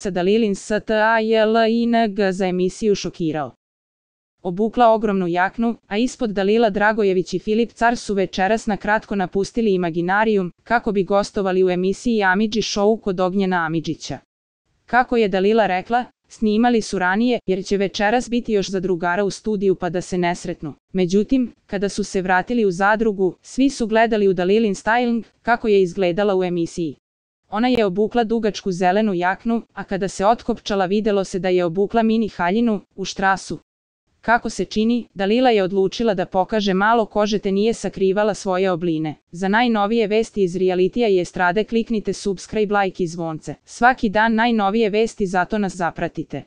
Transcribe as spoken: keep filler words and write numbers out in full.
Dalilin Stajling za emisiju šokirao. Obukla ogromnu jaknu, a ispod Dalila Dragojević i Filip Car su večeras na kratko napustili Imaginarijum, kako bi gostovali u emisiji Amidži Show kod Ognjena Amidžića. Kako je Dalila rekla, snimali su ranije, jer će večeras biti još zadrugara u studiju pa da se ne sretnu. Međutim, kada su se vratili u zadrugu, svi su gledali u Dalilin styling, kako je izgledala u emisiji. Ona je obukla dugačku zelenu jaknu, a kada se otkopčala videlo se da je obukla mini haljinu, u štrasu. Kako se čini, Dalila je odlučila da pokaže malo kože te nije sakrivala svoje obline. Za najnovije vesti iz realitija i estrade kliknite subscribe, like i zvonce. Svaki dan najnovije vesti, zato nas zapratite.